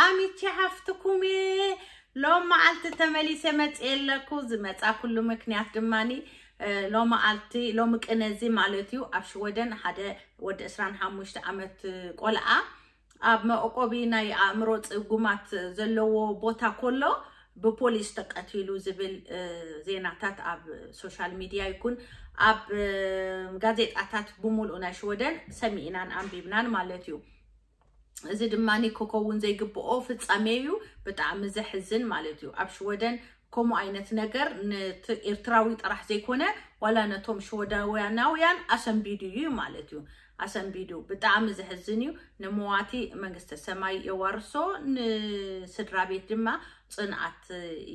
ኣሚቼ ሓፍትኩም እየ። ሎም መዓልቲ ተመሊሰ መፅየ ኣለኩ። ዝመፃ ኩሉ ምክንያት ድማኒ ሎም መዓልቲ ሎም ቅነዚ ማለት እዩ ኣብ ሽወደን ሓደ ወዲ ዕስራን ሓሙሽተ ዓመት ቆልዓ ኣብ መዕቆቢ ናይ ኣእምሮ ፅጉማት ዘለዎ ቦታ ኮሎ ብፖሊስ ተቀቲሉ ዝብል ዜናታት ኣብ ሶሻል ሚድያ ይኩን ኣብ ጋዜጣታት ብሙሉእ ናይ ሽወደን ሰሚዕናን ኣንቢብናን ማለት እዩ። እዚ ድማ ክከውን ዘይግብኦ ፍጻሜ እዩ። ብጣዕሚ ዘሕዝን ማለት እዩ። ኣብ ሽወደን ከምኡ ዓይነት ነገር ኤርትራዊ ጥራሕ ዘይኮነ ዋላ ነቶም ሽወዳውያናውያን ኣሰንቢዱ እዩ ማለት እዩ። ኣሰንቢዱ ብጣዕሚ ዘሕዝን እዩ። ንመዋቲ መንግስተ ሰማይ የዋርሶ፣ ንስድራ ቤት ድማ ጽንዓት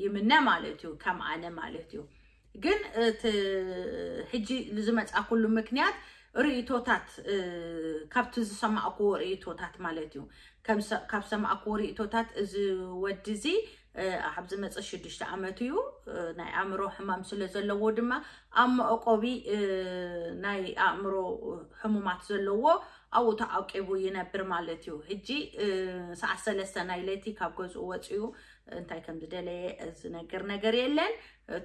ይምነ ማለት እዩ። ከም ኣነ ማለት እዩ። ግን እቲ ሕጂ ዝመጻ ኩሉ ምክንያት ርእይቶታት ካብቲ ዝሰማዕኩዎ ርእይቶታት ማለት እዩ። ካብ ሰማዕኩዎ ርእይቶታት እዚ ወዲ እዚ ኣብ ዝመፀ ሽዱሽተ ዓመት እዩ። ናይ ኣእምሮ ሕማም ስለ ዘለዎ ድማ ኣብ መዕቆቢ ናይ ኣእምሮ ሕሙማት ዘለዎ ኣብኡ ተዓቂቡ ይነብር ማለት እዩ። ሕጂ ሰዓት ሰለስተ ናይ ለይቲ ካብ ገዝኡ ወፂኡ እንታይ ከም ዝደለየ ዝነግር ነገር የለን።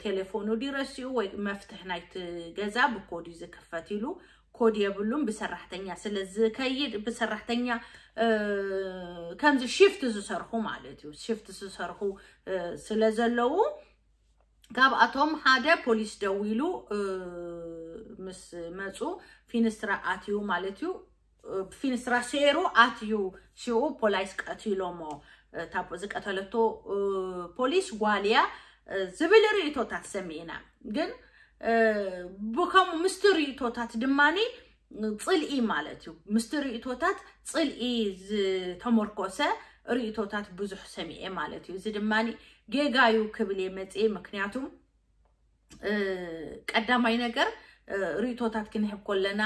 ቴሌፎኑ ድዩ ረሲኡ ወይ መፍትሕ ናይቲ ገዛ ብኮድ እዩ ዝክፈት ኢሉ ኮድ የብሉን። ብሰራሕተኛ ስለ ዝከይድ ብሰራሕተኛ ከምዚ ሽፍት ዝሰርሑ ማለት እዩ ሽፍት ዝሰርሑ ስለ ዘለዉ ካብኣቶም ሓደ ፖሊስ ደዊሉ ምስ መፁ ፊንስትራ ኣትዩ ማለት እዩ። ፊንስትራ ሴሩ ኣትዩ ሽኡ ፖሊስ ቀቲሎሞ። ዝቀተለቶ ፖሊስ ጓልያ ዝብል ርእቶታት ሰሚዕና። ግን ብከምኡ ምስቲ ርእቶታት ድማኒ ፅልኢ ማለት እዩ። ምስቲ ርእቶታት ፅልኢ ዝተመርኮሰ ርእቶታት ብዙሕ ሰሚዐ ማለት እዩ። እዚ ድማ ጌጋ እዩ ክብል እየ መፅኤ። ምክንያቱም ቀዳማይ ነገር ርእቶታት ክንህብ ከለና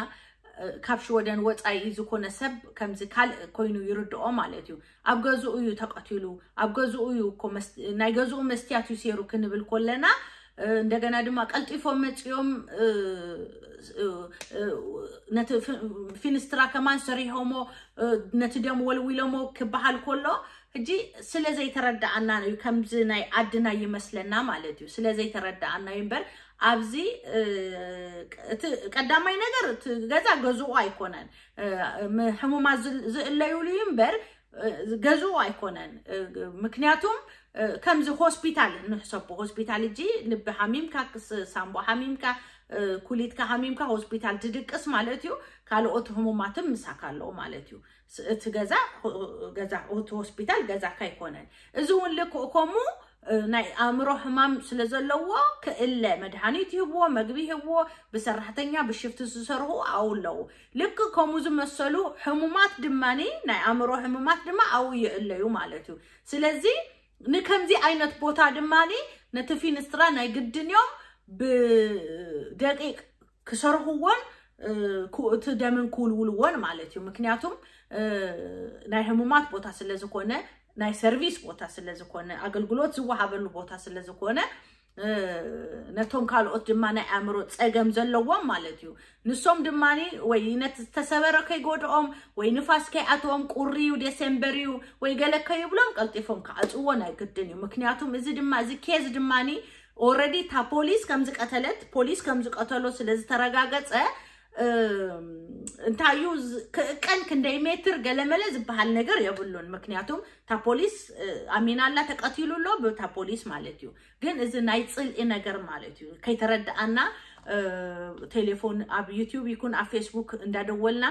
ካብ ሽወደን ወፃኢ ዝኾነ ሰብ ከምዚ ካልእ ኮይኑ ይርድኦ ማለት እዩ። ኣብ ገዝኡ እዩ ተቐቲሉ፣ ኣብ ገዝኡ እዩ እኮ ናይ ገዝኡ መስትያት እዩ ሴሩ ክንብል ከለና እንደገና ድማ ቀልጢፎም መፅኦም ነቲ ፊንስትራ ከማን ሰሪሖሞ ነቲ ደም ወልዊሎሞ ክበሃል ከሎ ሕጂ ስለ ዘይተረዳኣና እዩ ከምዚ ናይ ዓድና ይመስለና ማለት እዩ። ስለ ዘይተረዳኣና እዩ እምበር ኣብዚ እቲ ቀዳማይ ነገር እቲ ገዛ ገዝኡ ኣይኮነን። ሕሙማት ዝእለዩሉ እዩ እምበር ገዝኡ ኣይኮነን። ምክንያቱም ከምዚ ሆስፒታል ንሕሰቦ ሆስፒታል እጂ ልቢ ሓሚምካ ሳምቦ ሓሚምካ ኩሊትካ ሓሚምካ ሆስፒታል ትድቅስ ማለት እዩ። ካልኦት ህሙማትን ምሳካ ኣለዉ ማለት እዩ። እቲ ገዛ ገዛ እቲ ሆስፒታል ገዛካ ኣይኮነን። እዚ እውን ልክእ ከምኡ ናይ ኣእምሮ ሕማም ስለ ዘለዎ ክእለ መድሃኒት ይህብዎ፣ መግቢ ይህብዎ፣ ብሰራሕተኛ ብሽፍቲ ዝሰርሑ ኣብኡ ኣለዉ። ልክእ ከምኡ ዝመሰሉ ሕሙማት ድማ ናይ ኣእምሮ ሕሙማት ድማ ኣብኡ ይእለዩ ማለት እዩ። ስለዚ ንከምዚ ዓይነት ቦታ ድማ ነቲ ፊንስትራ ናይ ግድን እዮም ብደቂቅ ክሰርሕዎን እቲ ደምን ክውልውልዎን ማለት እዩ። ምክንያቱም ናይ ህሙማት ቦታ ስለ ዝኾነ ናይ ሰርቪስ ቦታ ስለ ዝኾነ ኣገልግሎት ዝወሃበሉ ቦታ ስለ ዝኾነ ነቶም ካልኦት ድማ ናይ ኣእምሮ ፀገም ዘለዎም ማለት እዩ። ንሶም ድማ ወይ ነቲ ዝተሰበረ ከይጎድኦም ወይ ንፋስ ከይኣትዎም ቁሪ እዩ ዴሴምበር እዩ ወይ ገለ ከይብሎም ቀልጢፎም ክዓፅዎ ናይ ግድን እዩ። ምክንያቱም እዚ ድማ እዚ ኬዝ ድማ ኦረዲ እታ ፖሊስ ከም ዝቀተለት ፖሊስ ከም ዝቀተሎ ስለ ዝተረጋገፀ እንታይ እዩ ክእቀን ክንደይ ሜትር ገለመለ ዝበሃል ነገር የብሉን። ምክንያቱም እታ ፖሊስ ኣሚናላ ተቀቲሉ ኣሎ ብታ ፖሊስ ማለት እዩ። ግን እዚ ናይ ፅልኢ ነገር ማለት እዩ ከይተረድኣና ቴሌፎን ኣብ ዩቲዩብ ይኩን ኣብ ፌስቡክ እንዳደወልና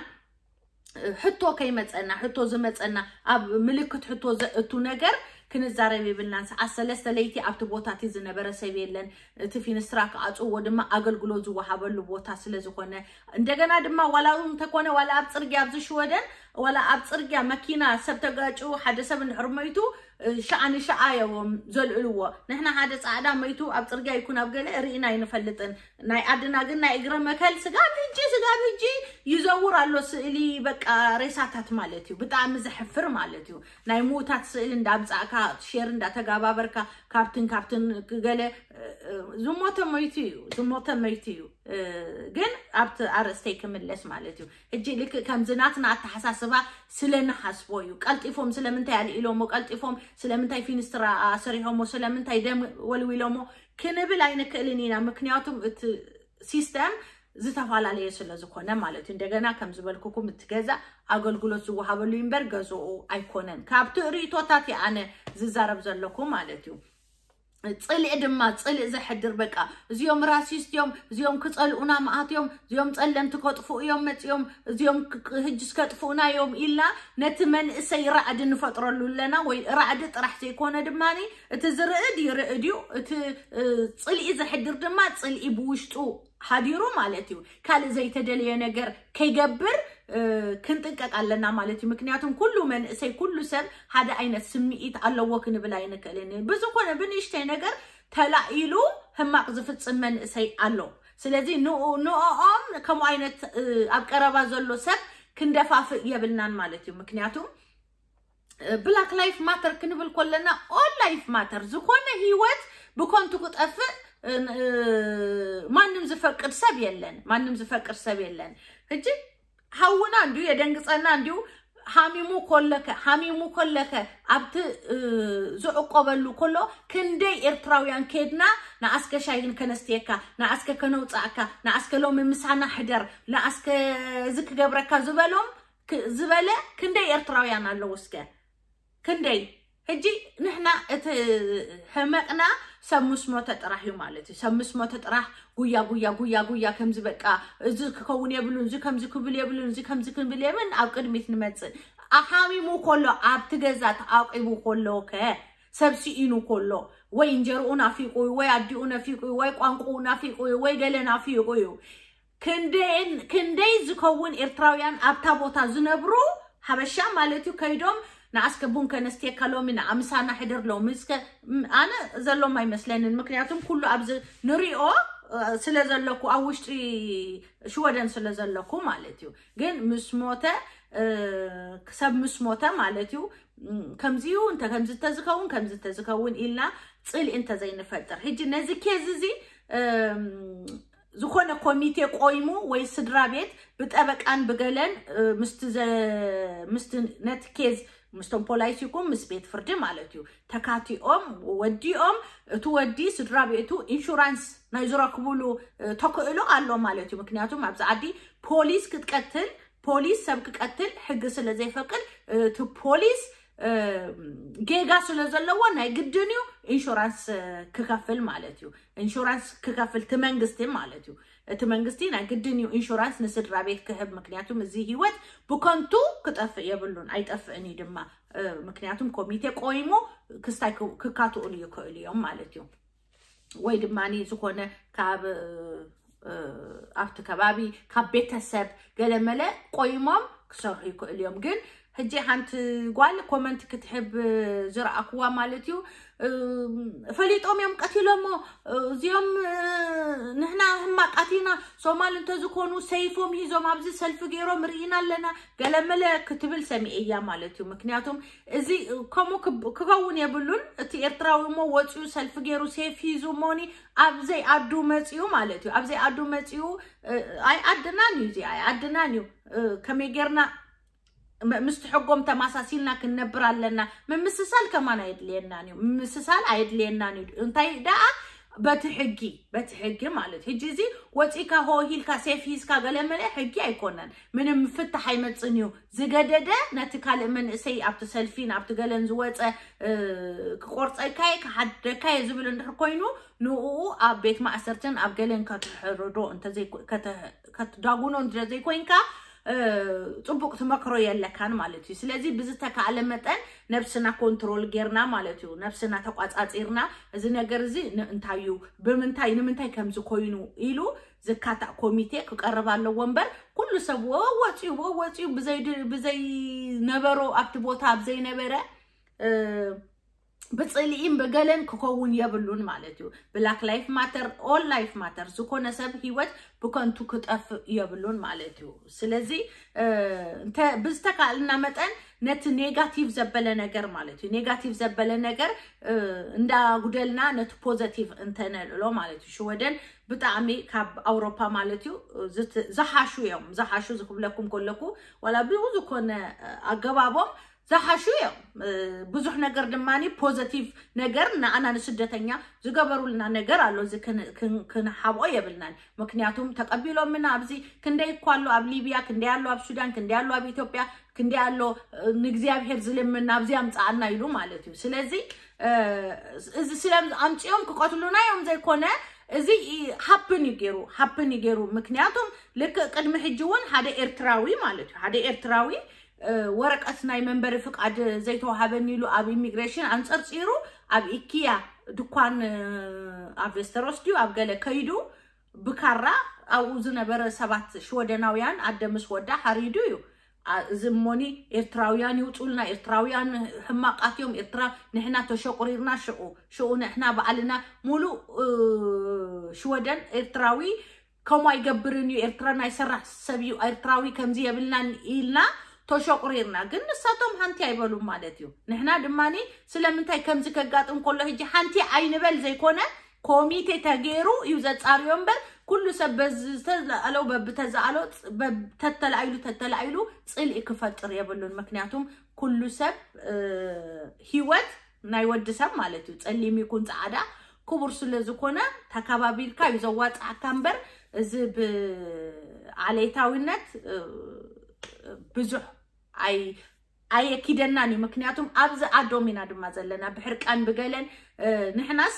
ሕቶ ከይመፀና ሕቶ ዝመፀና ኣብ ምልክት ሕቶ ዘእቱ ነገር ክንዛረብ የብልናን። ሰዓት ሰለስተ ለይቲ ኣብቲ ቦታ እቲ ዝነበረ ሰብ የለን። እቲ ፊንስትራ ክኣፅዎ ድማ ኣገልግሎት ዝወሃበሉ ቦታ ስለ ዝኾነ እንደገና ድማ ዋላ እውን እንተኮነ ዋላ ኣብ ፅርግያ ኣብዚ ሽወደን ዋላ ኣብ ፅርግያ መኪና ሰብ ተጋጭ ሓደ ሰብ እንድሕር መይቱ ሻዓ ንሻዓ እዮም ዘልዕልዎ። ንሕና ሓደ ፃዕዳ መይቱ ኣብ ፅርግያ ይኩን ኣብ ገለ ርኢና ኣይንፈልጥን። ናይ ዓድና ግን ናይ እግረ መከል ስጋብ ሕጂ ስጋብ ሕጂ ይዘውር ኣሎ ስእሊ በቃ ሬሳታት ማለት እዩ። ብጣዕሚ ዘሕፍር ማለት እዩ። ናይ ምዉታት ስእሊ እንዳምፃእካ ሼር እንዳተጋባበርካ ካብትን ካብትን ገለ ዝሞተ መይቱ እዩ ዝሞተ መይቱ እዩ ግን ኣብቲ ኣርእስተይ ክምለስ ማለት እዩ ሕጂ ልክ ከምዚ ናትና ኣተሓሳስባ ስለ ንሓስቦ እዩ ቀልጢፎም ስለምንታይ ኣልኢሎሞ ቀልጢፎም ስለምንታይ ፊንስትራ ኣሰሪሖሞ ስለምንታይ ደም ወልዊሎሞ ክንብል ኣይንክእልን ኢና ምክንያቱም እቲ ሲስተም ዝተፈላለየ ስለ ዝኾነ ማለት እዩ እንደገና ከም ዝበልኩኩም እቲ ገዛ ኣገልግሎት ዝወሃበሉ እምበር ገዝኡ ኣይኮነን ካብቲ ርእቶታት ኣነ ዝዛረብ ዘለኩ ማለት እዩ ፅልኢ ድማ ፅልኢ ዘሕድር በቃ እዚኦም ራሲስት እዮም እዚኦም ክፀልኡና መኣት እዮም እዚኦም ፀለምቲ ከጥፍኡ እዮም መፂኦም እዚኦም ህጅስ ከጥፍኡና እዮም ኢልና ነቲ መንእሰይ ራዕዲ ንፈጥረሉ ኣለና ወይ ራዕዲ ጥራሕ ዘይኮነ ድማ እቲ ዝርእ ድዩ ርእ ድዩ እቲ ፅልኢ ዘሕድር ድማ ፅልኢ ብውሽጡ ሓዲሩ ማለት እዩ ካልእ ዘይተደለየ ነገር ከይገብር ክንጥንቀቅ ኣለና ማለት እዩ ምክንያቱም ኩሉ መንእሰይ ኩሉ ሰብ ሓደ ዓይነት ስምዒት ኣለዎ ክንብል ኣይንክእልን ብዝኮነ ብንእሽተይ ነገር ተላኢሉ ህማቅ ዝፍፅም መንእሰይ ኣሎ ስለዚ ንኦም ከምኡ ዓይነት ኣብ ቀረባ ዘሎ ሰብ ክንደፋፍእ የብልናን ማለት እዩ ምክንያቱም ብላክ ላይፍ ማተር ክንብል ኮለና ኦል ላይፍ ማተር ዝኾነ ህይወት ብኮንቱ ክጠፍእ ማንም ዝፈቅድ ሰብ የለን ማንም ዝፈቅድ ሰብ የለን ሕጂ ሃውና እንዲሁ የደንግፀና እንዲሁ ሃሚሙ ኮለከ ሃሚሙ ኮለከ ኣብቲ ዝዕቆበሉ ኮሎ ክንደይ ኤርትራውያን ኬድና ንኣስከ ሻይን ከነስትየካ ንኣስከ ከነውፃእካ ንኣስከ ሎሚ ምሳና ሕደር ንኣስከ እዚ ክገብረካ ዝበሎም ዝበለ ክንደይ ኤርትራውያን ኣለዉ እስከ ክንደይ ሕጂ ንሕና እቲ ሕመቅና ሰብ ምስ ሞተ ጥራሕ እዩ ማለት እዩ ሰብ ምስ ሞተ ጥራሕ ጉያ ጉያ ጉያ ጉያ ከምዚ በቃ እዚ ክከውን የብሉን እዚ ከምዚ ክብል የብሉን እዚ ከምዚ ክብል የብልን ኣብ ቅድሚት ንመፅእ ኣሓሚሙ ከሎ ኣብቲ ገዛ ተዓቂቡ ከሎ ከ ሰብ ስኢኑ ከሎ ወይ እንጀርኡ ናፊቁ እዩ ወይ ኣዲኡ ነፊቁ እዩ ወይ ቋንቁኡ ናፊቁ እዩ ወይ ገለ ናፊቁ እዩ ክንደይ ክንደይ ዝከውን ኤርትራውያን ኣብታ ቦታ ዝነብሩ ሓበሻ ማለት እዩ ከይዶም ንኣስከ ቡን ከነስትየካ ሎሚ ንኣምሳና ሕድር ሎሚ እስከ ኣነ ዘሎም ኣይመስለንን ምክንያቱም ኩሉ ኣብዚ ንሪኦ ስለ ዘለኩ ኣብ ውሽጢ ሽወደን ስለ ዘለኩ ማለት እዩ ግን ምስ ሞተ ሰብ ምስ ሞተ ማለት እዩ ከምዚዩ እንተ ከምዚ ተዝኸውን ከምዚ ተዝኸውን ኢልና ፅልኢ እንተዘይንፈጥር ሕጂ ነዚ ኬዝ እዚ ዝኾነ ኮሚቴ ቆይሙ ወይ ስድራ ቤት ብጠበቃን ብገለን ምስቲ ነቲ ኬዝ ምስቶም ፖላይስ ይኩን ምስ ቤት ፍርዲ ማለት እዩ ተካቲኦም ወዲኦም እቲ ወዲ ስድራ ቤቱ ኢንሹራንስ ናይ ዝረክብሉ ተክእሎ ኣሎ ማለት እዩ ምክንያቱም ኣብዚ ዓዲ ፖሊስ ክትቀትል ፖሊስ ሰብ ክቀትል ሕጊ ስለ ዘይፈቅድ እቲ ፖሊስ ጌጋ ስለ ዘለዎ ናይ ግድን እዩ ኢንሹራንስ ክከፍል ማለት እዩ ኢንሹራንስ ክከፍል እቲ መንግስቲ ማለት እዩ እቲ መንግስቲ ናይ ግድን እዩ ኢንሹራንስ ንስድራ ቤት ክህብ ምክንያቱም እዚ ህይወት ብከንቱ ክጠፍእ የብሉን ኣይጠፍእን እዩ ድማ ምክንያቱም ኮሚቴ ቆይሙ ክስታይ ክካትኡሉ ይክእሉ እዮም ማለት እዩ ወይ ድማ ዝኾነ ካብ ኣብቲ ከባቢ ካብ ቤተሰብ ገለመለ ቆይሞም ክሰርሑ ይክእሉ እዮም ግን ሕጂ ሓንቲ ጓል ኮመንት ክትሕብ ዝረኣክዋ ማለት እዩ ፈሊጦም እዮም ቀቲሎሞ እዚኦም ንሕና ህማቃት ኢና ሶማል እንተዝኮኑ ሰይፎም ሂዞም ኣብዚ ሰልፊ ገይሮም ርኢና ኣለና ገለመለ ክትብል ሰሚኤያ ማለት እዩ ምክንያቱም እዚ ከምኡ ክኸውን የብሉን እቲ ኤርትራዊ እሞ ወፂኡ ሰልፊ ገይሩ ሴፍ ሂዙ ሞኒ ኣብዘይ ኣዱ መፂኡ ማለት እዩ ኣብዘይ ኣዱ መፂኡ ኣይ ኣድናን እዩ እዚ ኣይ ኣድናን እዩ ከመይ ጌርና ምስቲ ሕጎም ተማሳሲልና ክንነብር ኣለና ምምስሳል ከማን ኣየድልየናን እዩ ምምስሳል ኣየድልየናን እዩ እንታይ ደኣ በቲ ሕጊ በቲ ሕጊ ማለት ሕጂ እዚ ወፂካ ሆሂልካ ሴፍ ሂዝካ ገለመለ ሕጊ ኣይኮነን ምንም ፍታሕ ኣይመፅን እዩ ዝገደደ ነቲ ካልእ መንእሰይ ኣብቲ ሰልፊን ኣብቲ ገለን ዝወፀ ክቆርፀካየ ክሓደካየ ዝብል እንድሕር ኮይኑ ንኡ ኣብ ቤት ማእሰርትን ኣብ ገለን ከተሕርዶ ከተዳጉኖ እንተዘይኮይንካ ፅቡቅ ትመክሮ የለካን ማለት እዩ ስለዚ ብዝተካእለ መጠን ነብስና ኮንትሮል ጌርና ማለት እዩ ነብስና ተቋፃፂርና እዚ ነገር እዚ እንታይ እዩ ብምንታይ ንምንታይ ከምዚ ኮይኑ ኢሉ ዝካታእ ኮሚቴ ክቀርብ ኣለዎ እምበር ኩሉ ሰብ ወወፂኡ ወወፂኡ ብዘይነበሮ ኣብቲ ቦታ ኣብዘይነበረ ብፅልኢን ብገለን ክኸውን የብሉን ማለት እዩ black life matter all life matter ዝኾነ ሰብ ህይወት ብከንቱ ክጠፍእ የብሉን ማለት እዩ ስለዚ ብዝተካእልና መጠን ነቲ ኔጋቲቭ ዘበለ ነገር ማለት እዩ። ኔጋቲቭ ዘበለ ነገር እንዳጉደልና ነቲ ፖዘቲቭ እንተነልዕሎ ማለት እዩ። ሽወደን ብጣዕሚ ካብ ኣውሮፓ ማለት እዩ ዝሓሹ እዮም። ዝሓሹ ዝክብለኩም ከለኩ ዋላ ብዝኮነ ኣገባቦም ዝሓሹ እዮም። ብዙሕ ነገር ድማ ፖዘቲቭ ነገር ንኣና ንስደተኛ ዝገበሩልና ነገር ኣሎ። እዚ ክንሓብኦ የብልናን። ምክንያቱም ተቀቢሎምና ኣብዚ ክንደይ እኳ ኣሎ ኣብ ሊቢያ፣ ክንደይ ኣሎ ኣብ ሱዳን፣ ክንደይ ኣሎ ኣብ ኢትዮጵያ፣ ክንደይ ኣሎ ንእግዚኣብሔር ዝልምን ናብዚ ኣምጻኣና ኢሉ ማለት እዩ። ስለዚ እዚ ስለ ኣምጺኦም ክቀትሉና እዮም ዘይኮነ እዚ ሃፕን እዩ ገይሩ ሃፕን እዩ ገይሩ። ምክንያቱም ልክእ ቅድሚ ሕጂ እውን ሓደ ኤርትራዊ ማለት እዩ ሓደ ኤርትራዊ ወረቀት ናይ መንበሪ ፍቃድ ዘይተዋሃበኒ ኢሉ ኣብ ኢሚግሬሽን ኣንጸርጺሩ ኣብ ኢኪያ ድኳን ኣብ ቬስተሮስ ድዩ ኣብ ገለ ከይዱ ብካራ ኣብኡ ዝነበረ ሰባት ሽወደናውያን ኣደ ምስ ወዳ ሓሪዱ እዩ። እዚ እሞኒ ኤርትራውያን ይውፁልና፣ ኤርትራውያን ሕማቃት እዮም፣ ኤርትራ ንሕና ተሸቁሪርና ሽቁ ሽቁ ንሕና በዓልና ሙሉእ ሽወደን ኤርትራዊ ከምኡ ኣይገብርን እዩ፣ ኤርትራ ናይ ሰራሕ ሰብ እዩ፣ ኤርትራዊ ከምዚ የብልናን ኢልና ተሸቁሪርና። ግን ንሳቶም ሓንቲ ኣይበሉም ማለት እዩ። ንሕና ድማ ስለምንታይ ከምዚ ከጋጥም ከሎ ሕጂ ሓንቲ ኣይንበል ዘይኮነ ኮሚቴ ተገይሩ እዩ ዘጻርዮ እምበር ኩሉ ሰብ በዚ ዝተዘኣሎ በብተዘኣሎ ተተላኢሉ ተተላኢሉ ጽልኢ ክፈጥር የብሉን። ምክንያቱም ኩሉ ሰብ ህይወት ናይ ወዲ ሰብ ማለት እዩ ጸሊም ይኩን ጻዕዳ ክቡር ስለ ዝኾነ ተካባቢልካ እዩ ዘዋጽኣካ እምበር እዚ ብዓሌታዊነት ብዙሕ ኣይ ኣየኪደናን እዩ። ምክንያቱም ኣብዚ ኣዶም ኢና ድማ ዘለና ብሕርቃን ብገለን ንሕናስ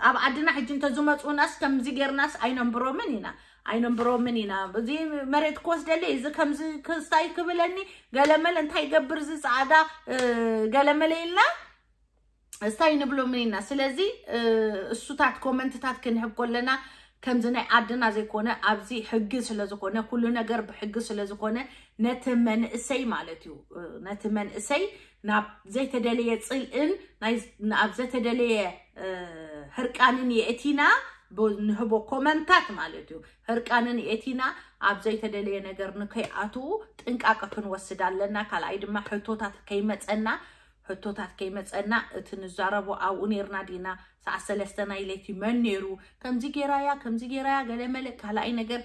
ኣብ ዓድና ሕጂ እንተዝመፁናስ ከምዚ ጌርናስ ኣይነንብሮምን ኢና ኣይነንብሮምን ኢና። እዚ መሬት ክወስደለይ እዚ ከምዚ ክስታይ ክብለኒ ገለመለ እንታይ ይገብር እዚ ፃዕዳ ገለመለ ኢልና እስታይ ንብሎምን ኢና። ስለዚ እሱታት ኮመንትታት ክንህብ ከለና ከምዚ ናይ ዓድና ዘይኮነ ኣብዚ ሕጊ ስለ ዝኾነ ኩሉ ነገር ብሕጊ ስለ ዝኾነ ነቲ መንእሰይ ማለት እዩ ነቲ መንእሰይ ናብ ዘይተደለየ ጽልእን ናብ ዘተደለየ ህርቃንን የእቲና ንህቦ ኮመንታት ማለት እዩ። ህርቃንን የእቲና ኣብ ዘይተደለየ ነገር ንከይኣትዉ ጥንቃቀ ክንወስድ ኣለና። ካልኣይ ድማ ሕቶታት ከይመጸና ሕቶታት ከይመጸና እቲ ንዛረቦ ኣብኡ ነርና ዲና ሰዓት ሰለስተ ናይ ለይቲ መን ነሩ ከምዚ ጌራያ ከምዚ ጌራያ ገለ መለ ካልኣይ ነገር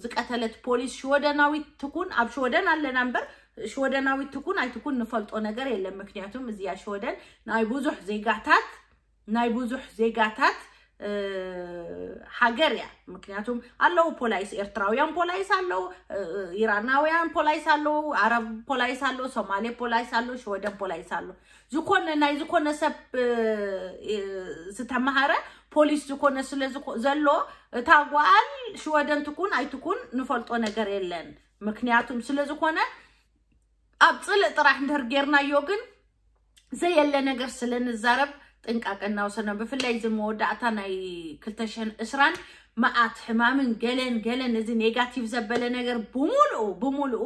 ዝቀተለት ፖሊስ ሽወደናዊት ትኩን ኣብ ሽወደን ኣለና እምበር ሽወደናዊት ትኩን ኣይትኩን ንፈልጦ ነገር የለን። ምክንያቱም እዚኣ ሽወደን ናይ ብዙሕ ዜጋታት ናይ ብዙሕ ዜጋታት ሃገር እያ። ምክንያቱም ኣለዉ ፖላይስ ኤርትራውያን ፖላይስ ኣለዉ፣ ኢራናውያን ፖላይስ ኣለዉ፣ ዓረብ ፖላይስ ኣለዉ፣ ሶማሌ ፖላይስ ኣለዉ፣ ሽወደን ፖላይስ ኣለዉ። ዝኾነ ናይ ዝኾነ ሰብ ዝተመሃረ ፖሊስ ዝኾነ ስለ ዘሎ እታ ጓል ሽወደን ትኩን ኣይትኩን ንፈልጦ ነገር የለን። ምክንያቱም ስለ ዝኾነ ኣብ ጽልእ ጥራሕ እንድህር ጌርናዮ ግን ዘየለ ነገር ስለ ንዛረብ ጥንቃቀ እናወሰድና ብፍላይ እዚ መወዳእታ ናይ ክልተ ሽሕን ዕስራን መዓት ሕማምን ገለን ገለን እዚ ኔጋቲቭ ዘበለ ነገር ብምሉኡ ብምሉኡ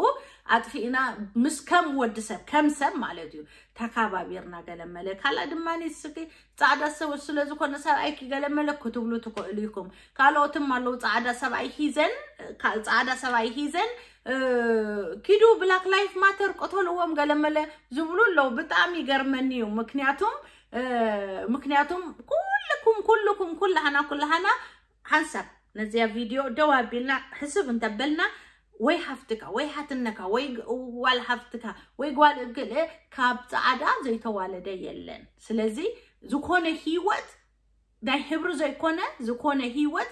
ኣጥፊእና ምስ ከም ወዲ ሰብ ከም ሰብ ማለት እዩ ተካባቢርና ገለ መለ ካልኣ ድማ ስኪ ጻዕዳ ሰብ ስለ ዝኾነ ሰብኣይኪ ገለ መለ ክትብሉ ትኽእሉ ኢኹም። ካልኦትም ኣለዉ ጻዕዳ ሰብኣይ ሂዘን ጻዕዳ ሰብኣይ ሂዘን ኪዱ ብላክ ላይፍ ማተር ቅተልዎም ገለ መለ ዝብሉ ኣለዉ። ብጣዕሚ ይገርመኒ እዩ። ምክንያቱም ምክንያቱም ኩልኩም ኩልኩም ኩላሃና ኩላሃና ሓንሳብ ነዚያ ቪድዮ ደው ኣቢልና ሕስብ እንተበልና ወይ ሓፍትካ ወይ ሓትነካ ወይ ጓል ሓፍትካ ወይ ጓል እግል ካብ ጻዕዳ ዘይተዋለደ የለን። ስለዚ ዝኾነ ህይወት ናይ ሕብሪ ዘይኮነ ዝኾነ ህይወት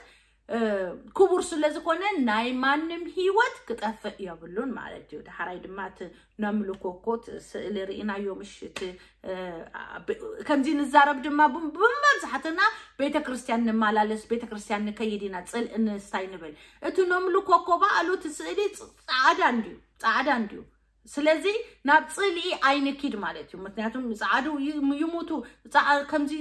ክቡር ስለ ዝኾነ ናይ ማንም ህይወት ክጠፍእ የብሉን ማለት እዩ። ዳሕራይ ድማ እቲ ነምልኮ እኮ እቲ ስእሊ ርኢናዮ ምሽ እቲ ከምዚ ንዛረብ ድማ ብመብዛሕትና ቤተክርስትያን ንመላለስ ቤተክርስትያን ንከይድ ኢና ጽልኢ ንስታይ ንብል። እቲ ነምልኮ እኮ በኣሉ እቲ ስእሊ ጻዕዳ እንድዩ ጻዕዳ እንድዩ። ስለዚ ናብ ጽልኢ ኣይንኪድ ማለት እዩ። ምክንያቱም ጻዕዱ ይሙቱ ከምዚ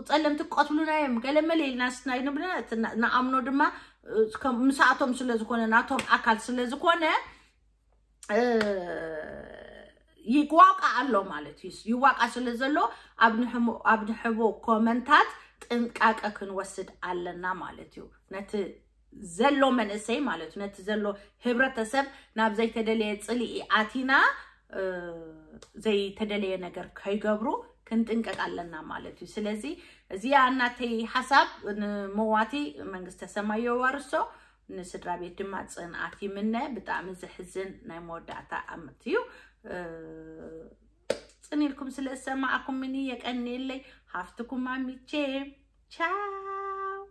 ጸለምቲ ቀትሉና እዮም ገለመለ ኢልና ስናይ ንብልና ንኣምኖ ድማ ምሳኣቶም ስለ ዝኾነ ናቶም ኣካል ስለ ዝኾነ ይዋቃ ኣሎ ማለት እዩ። ይዋቃ ስለ ዘሎ ኣብ ንሕቦ ኮመንታት ጥንቃቀ ክንወስድ ኣለና ማለት እዩ። ነቲ ዘሎ መንእሰይ ማለት እዩ ነቲ ዘሎ ህብረተሰብ ናብ ዘይተደለየ ጽልኢ ኣቲና ዘይተደለየ ነገር ከይገብሩ ክንጥንቀቅ ኣለና ማለት እዩ። ስለዚ እዚኣ እናተይ ሓሳብ ንመዋቲ መንግስተ ሰማይ የዋርሶ፣ ንስድራ ቤት ድማ ጽንዓት ይምነ። ብጣዕሚ ዘሕዝን ናይ መወዳእታ ኣመት እዩ። ጽን ኢልኩም ስለ ዝሰማዕኩምኒ የቀንየለይ። ሃፍትኩም ኣሚቼ ቻው።